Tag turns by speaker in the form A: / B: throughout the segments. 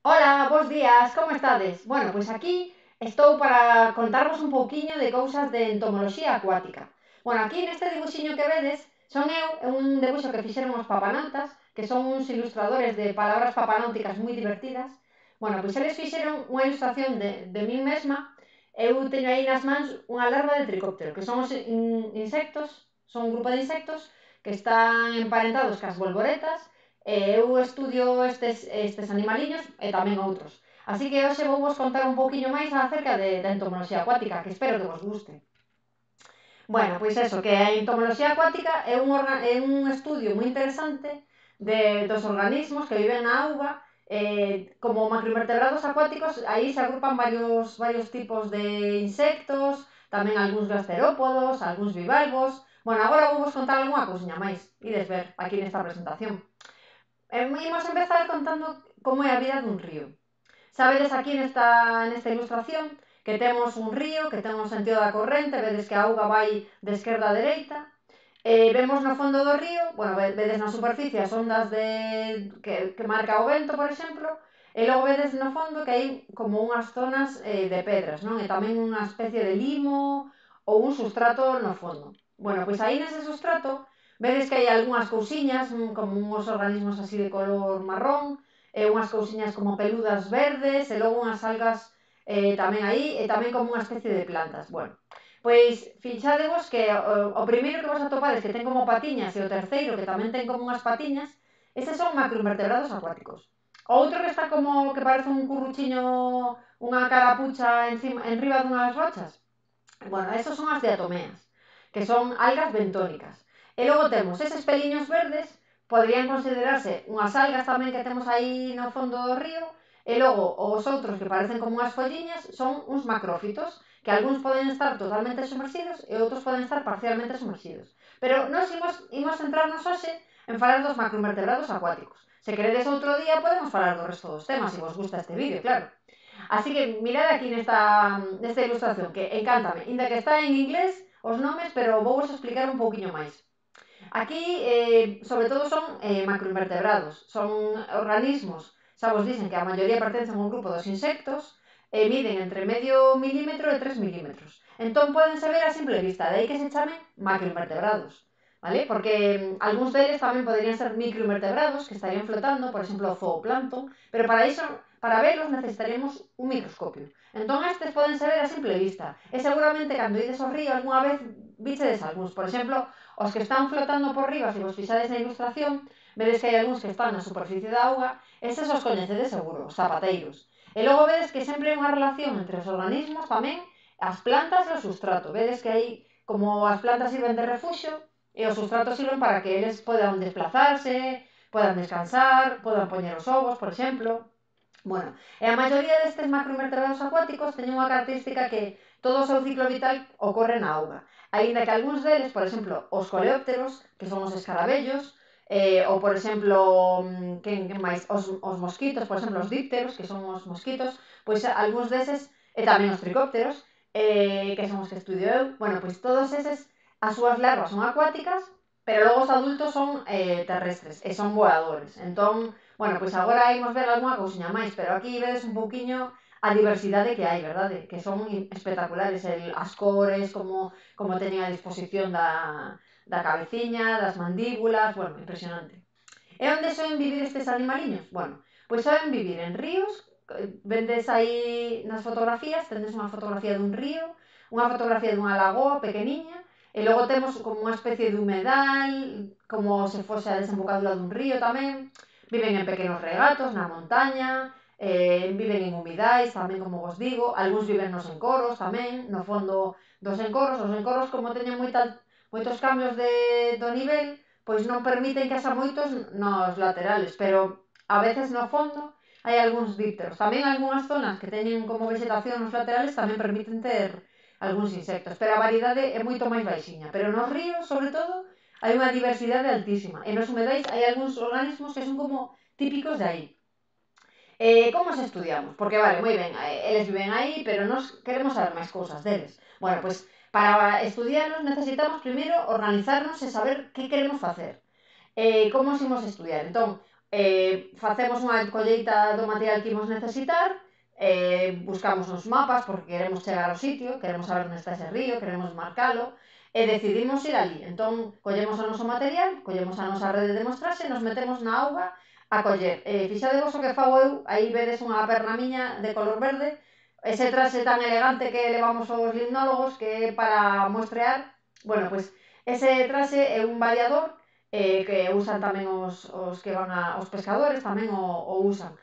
A: Ola, bos días, como estades? Bueno, pois aquí estou para contarvos un pouquiño de cousas de entomoloxía acuática. Bueno, aquí neste dibuxiño que vedes, son eu, é un debuxo que fixeron os papanautas, que son uns ilustradores de palabras papanáuticas moi divertidas. Bueno, pois eles fixeron unha ilustración de min mesma. Eu teño aí nas mans unha larva de tricóptero, que son os insectos, son un grupo de insectos que están emparentados cas bolboretas. Eu estudio estes animaliños e tamén outros. Así que hoxe vou vos contar un pouquiño máis acerca da entomoloxía acuática, que espero que vos guste. Bueno, pois eso, que a entomoloxía acuática é un estudio moi interesante dos organismos que viven na auga. Como macroinvertebrados acuáticos, aí se agrupan varios tipos de insectos, tamén algúns gasterópodos, algúns bivalvos. Bueno, agora vou vos contar algunha cousiña máis, ides ver aquí nesta presentación. Imos empezar contando como é a vida dun río. Sabedes aquí nesta ilustración que temos un río que ten un sentido da corrente, vedes que a auga vai de esquerda a dereita. Vemos no fondo do río, bueno, vedes na superficie as ondas que marca o vento, por exemplo, e logo vedes no fondo que hai como unhas zonas de pedras, non? E tamén unha especie de limo ou un sustrato no fondo. Bueno, pois aí nese sustrato vedes que hai algunhas cousiñas, como uns organismos así de color marrón, unhas cousiñas como peludas verdes, e logo unhas algas tamén aí, e tamén como unha especie de plantas. Bueno, pois fixadevos que o primeiro que vos atopades que ten como patiñas e o terceiro que tamén ten como unhas patiñas, estes son macroinvertebrados acuáticos. Outro que está como que parece un curruchiño, unha carapucha enriba dunhas rochas. Bueno, esos son as diatomeas, que son algas bentónicas. E logo temos eses peliños verdes, poderían considerarse unhas algas tamén que temos aí no fondo do río, e logo os outros que parecen como unhas folliñas son uns macrófitos, que algúns poden estar totalmente sumerxidos e outros poden estar parcialmente sumerxidos. Pero nós imos centrarnos hoxe en falar dos macroinvertebrados acuáticos. Se queredes outro día podemos falar do resto dos temas, se vos gusta este vídeo, claro. Así que mirad aquí nesta ilustración, que encántame, inda que está en inglés os nomes, pero vou vos explicar un pouquiño máis. Aquí, sobre todo, son macroinvertebrados, son organismos, xa vos dicen que a maioría pertencen a un grupo dos insectos, e miden entre medio milímetro e 3 milímetros. Entón, podense ver a simple vista, de aí que se chamen macroinvertebrados, vale? Porque algúns deles tamén poderían ser microinvertebrados, que estarían flotando, por exemplo, o zooplancton, pero para iso, para verlos, necesitaremos un microscopio. Entón, estes podense ver a simple vista, e seguramente, cando ides ao río, algunha vez vichedes algúns. Por exemplo, os que están flotando por riba, se vos fixades na ilustración, vedes que hai algúns que están na superficie da auga, estes os coñecedes seguro, os zapateiros. E logo vedes que sempre hai unha relación entre os organismos tamén, as plantas e o sustrato. Vedes que aí, como as plantas sirven de refuxo, e os sustratos sirven para que eles podan desplazarse, podan descansar, podan poñer os ovos, por exemplo. Bueno, e a maioría destes macroinvertebrados acuáticos teñen unha característica que todo o seu ciclo vital ocorre na auga. Aínda que algúns deles, por exemplo, os coleópteros, que son os escarabellos, ou, por exemplo, que máis? Os mosquitos, por exemplo, os dípteros, que son os mosquitos, pois algúns deses, e tamén os tricópteros, que son os que estudio eu, bueno, pois todos eses, as súas larvas son acuáticas, pero logo os adultos son terrestres, e son voadores. Entón, bueno, pois agora imos ver algunha cousiña máis, pero aquí vedes un pouquiño a diversidade que hai, verdade? Que son espectaculares, as cores, como teñen a disposición da cabeciña, das mandíbulas, bueno, impresionante. E onde soen vivir estes animaliños? Bueno, pois soen vivir en ríos, vendes aí nas fotografías, tendes unha fotografía dun río, unha fotografía dunha lagoa pequeniña, e logo temos como unha especie de humedal, como se fose a desembocadura dun río tamén. Viven en pequenos regatos, na montaña, viven en humidais, tamén como vos digo, algúns viven nos encoros tamén, no fondo dos encoros. Os encoros, como teñen moitos cambios do nivel, pois non permiten que haxa moitos nos laterales, pero a veces no fondo hai algúns dípteros. Tamén algunhas zonas que teñen como vegetación nos laterales tamén permiten ter algúns insectos, pero a variedade é moito máis baixiña. Pero nos ríos, sobre todo, hai unha diversidade altísima. E nos humedais hai algúns organismos que son como típicos de aí. Como os estudiamos? Porque, vale, moi ben, eles viven aí, pero nós queremos saber máis cousas deles. Bueno, pois, para estudiarlos necesitamos primeiro organizarnos e saber que queremos facer. Como os imos estudiar? Entón, facemos unha colleita do material que imos necesitar, buscamos uns mapas porque queremos chegar ao sitio, queremos saber onde está ese río, queremos marcalo, e decidimos ir ali. Entón, collemos o noso material, collemos a nosa rede de mostraxe e nos metemos na auga a coller. Fixadevos o que fago eu, aí vedes unha perna miña de color verde, ese traxe tan elegante que levamos os limnólogos que é para muestrear. Bueno, pois ese traxe é un variador que usan tamén os que van os pescadores, tamén o usan.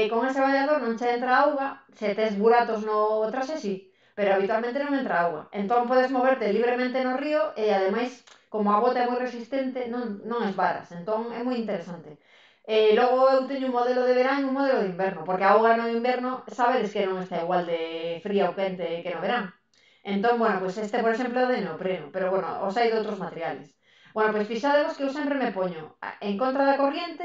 A: Con ese variador non che entra auga, se tes buratos no traxe sí, pero habitualmente non entra auga. Entón podes moverte libremente no río e ademais, como a bota é moi resistente, non esvaras. Entón é moi interesante. Logo eu teño un modelo de verán e un modelo de inverno, porque a auga no inverno sabedes que non está igual de fría ou quente que no verán. Entón, bueno, pois este, por exemplo, é de neopreno, pero bueno, os hai de outros materiales. Bueno, pois fixadevos que eu sempre me poño en contra da corriente,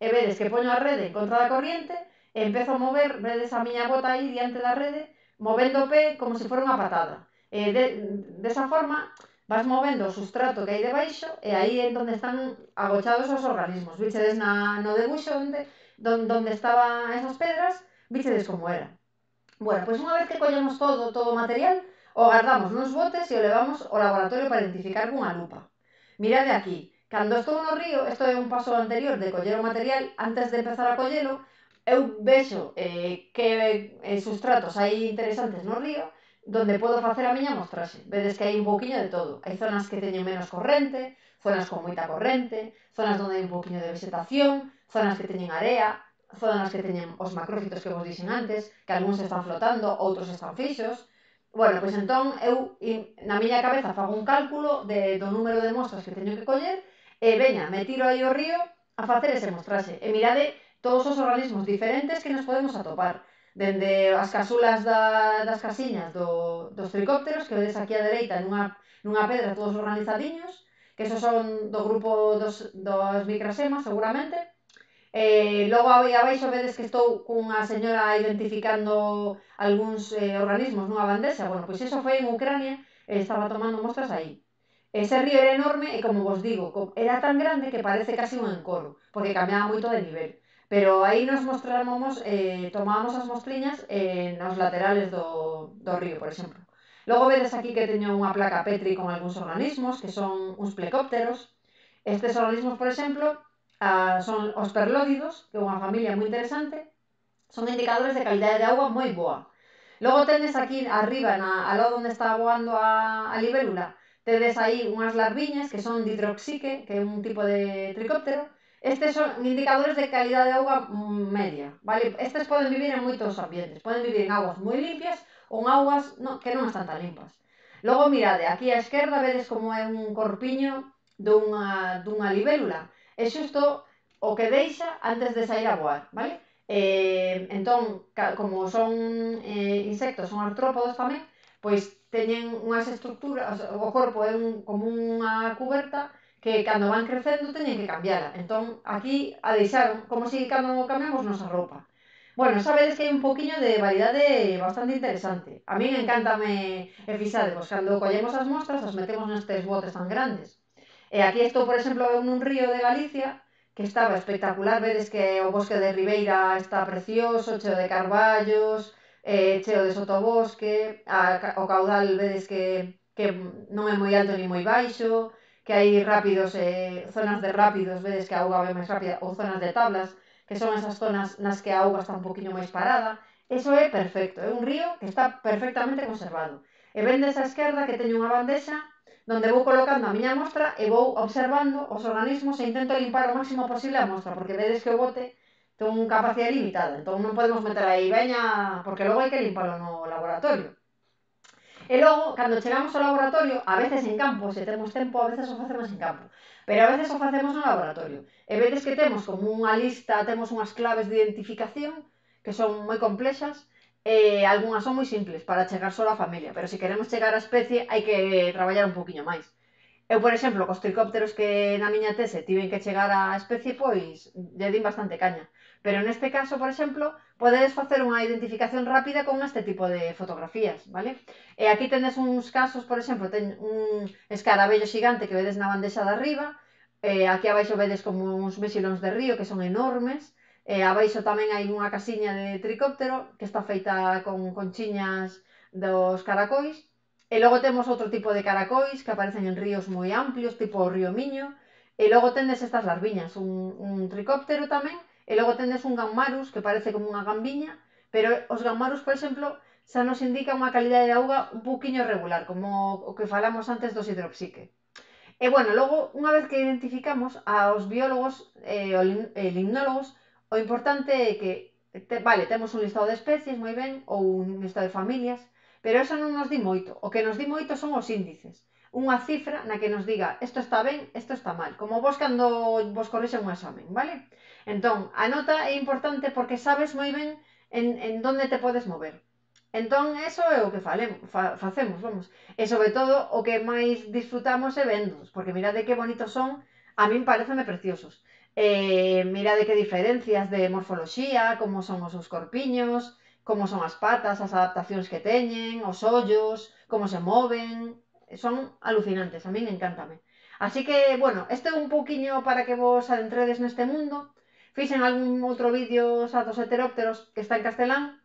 A: e vedes que poño a rede en contra da corriente, e empezo a mover, vedes a miña bota aí diante da rede, movendo o pé como se fora unha patada. Desa forma, vas movendo o sustrato que hai debaixo e aí é onde están agochados os organismos. Vichedes no debuxo onde estaban esas pedras, vichedes como era. Bueno, pois unha vez que collemos todo o material, o guardamos nos botes e o levamos ao laboratorio para identificar cunha lupa. Mirade aquí, cando estou no río, isto é un paso anterior de coller o material, antes de empezar a collelo, eu vexo que sustratos hai interesantes no río, donde podo facer a miña mostraxe. Vedes que hai un pouquiño de todo. Hai zonas que teñen menos corrente, zonas con moita corrente, zonas onde hai un pouquiño de vegetación, zonas que teñen area, zonas que teñen os macrófitos que vos dixen antes, que algúns están flotando, outros están fixos. Bueno, pois entón eu na miña cabeza fago un cálculo do número de mostras que teño que coller e veña, me tiro aí ao río a facer ese mostraxe. E mirade todos os organismos diferentes que nos podemos atopar. Dende as casulas das casiñas dos tricópteros, que vedes aquí á dereita nunha pedra todos organizadiños, que esos son do grupo dos micrasemas, seguramente. Logo aí abaixo vedes que estou cunha señora identificando algúns organismos nunha bandexa. Bueno, pois iso foi en Ucrania e estaba tomando mostras aí. Ese río era enorme e, como vos digo, era tan grande que parece casi un encoro, porque cambiaba moito de nivel. Pero aí nos mostrábamos, tomábamos as mostriñas nos laterales do río, por exemplo. Logo vedes aquí que teño unha placa Petri con algúns organismos, que son uns plecópteros. Estes organismos, por exemplo, son os perlódidos, que é unha familia moi interesante, son indicadores de calidade de auga moi boa. Logo tendes aquí arriba, ao lado onde está voando a libélula, tedes aí unhas larviñas que son didroxique, que é un tipo de tricóptero. Estes son indicadores de calidade de auga media, vale? Estes poden vivir en moitos ambientes, poden vivir en augas moi limpias ou en augas que non están tan limpas. Logo mirade, aquí á esquerda vedes como é un corpiño dunha libélula. É xusto o que deixa antes de sair a voar, vale? Entón, como son insectos, son artrópodos tamén, pois teñen unhas estructuras, o corpo é como unha cuberta que cando van crecendo teñen que cambiala. Entón, aquí a deixaron, como se cando cambiamos nosa roupa. Bueno, sabedes que hai un poquinho de variedade bastante interesante. A min encántame, fixadevos, cando collemos as mostras, as metemos nestes botes tan grandes. E aquí estou, por exemplo, nun río de Galicia, que estaba espectacular. Vedes que o bosque de Ribeira está precioso, cheo de carballos, cheo de sotobosque, o caudal vedes que non é moi alto ni moi baixo, que hai rápidos, zonas de rápidos, vedes que a auga vai máis rápida, ou zonas de tablas, que son esas zonas nas que a auga está un poquinho máis parada. Eso é perfecto, é un río que está perfectamente conservado. E vendes á esquerda que teño unha bandexa donde vou colocando a miña mostra e vou observando os organismos e intento limpar o máximo posible a mostra, porque vedes que o bote ten unha capacidade limitada, entón non podemos meter aí veña, porque logo hai que limpalo no laboratorio. E logo, cando chegamos ao laboratorio, a veces en campo, se temos tempo, a veces o facemos en campo, pero a veces o facemos no laboratorio. E vedes que temos como unha lista, temos unhas claves de identificación que son moi complexas, e algunhas son moi simples para chegar só a familia, pero se queremos chegar á especie hai que traballar un poquinho máis. Eu, por exemplo, cos tricópteros que na miña tese tiven que chegar á especie, pois lle din bastante caña. Pero neste caso, por exemplo, podedes facer unha identificación rápida con este tipo de fotografías, vale? E aquí tendes uns casos, por exemplo, ten un escarabello xigante que vedes na bandexa de arriba, Aquí abaixo vedes como uns mexilóns de río que son enormes. Abaixo tamén hai unha casiña de tricóptero que está feita con conchiñas dos caracois. E logo temos outro tipo de caracois que aparecen en ríos moi amplios, tipo o río Miño. E logo tendes estas larviñas, un tricóptero tamén. E logo tendes un gammarus que parece como unha gambiña, pero os gammarus, por exemplo, xa nos indica unha calidade de auga un pouquiño regular, como o que falamos antes dos hidroxique. E bueno, logo, unha vez que identificamos aos biólogos e limnólogos, o importante é que, vale, temos un listado de especies, moi ben, ou un listado de familias, pero eso non nos di moito. O que nos di moito son os índices. Unha cifra na que nos diga isto está ben, isto está mal. Como vos cando vos corrixen un examen, vale? Entón, a nota é importante porque sabes moi ben en donde te podes mover. Entón, eso é o que facemos, vamos. E sobre todo, o que máis disfrutamos é vendos, porque mirade que bonitos son, a min pareceme preciosos. Mirade que diferencias de morfoloxía, como son os seus corpiños, como son as patas, as adaptacións que teñen, os ollos, como se moven, son alucinantes, a min encántame. Así que, bueno, este é un pouquiño para que vos adentredes neste mundo. Fixen algún outro vídeo xa dos heterópteros que está en castelán,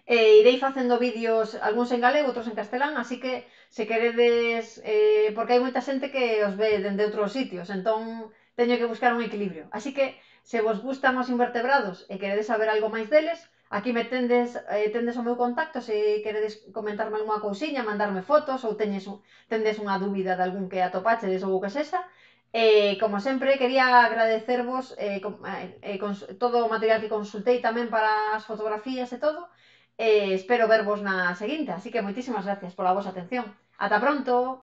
A: irei facendo vídeos, algúns en galego, outros en castelán, así que se queredes, porque hai moita xente que os ve dende outros sitios, entón teño que buscar un equilibrio. Así que, se vos gustan os invertebrados e queredes saber algo máis deles, aquí me tendes o meu contacto se queredes comentarme algunha cousiña, mandarme fotos ou tendes unha dúbida de algún que atopachedes ou o que sexa. Como sempre, quería agradecervos todo o material que consultei tamén para as fotografías e todo. Espero vervos na seguinte, así que moitísimas gracias pola vosa atención. Ata pronto!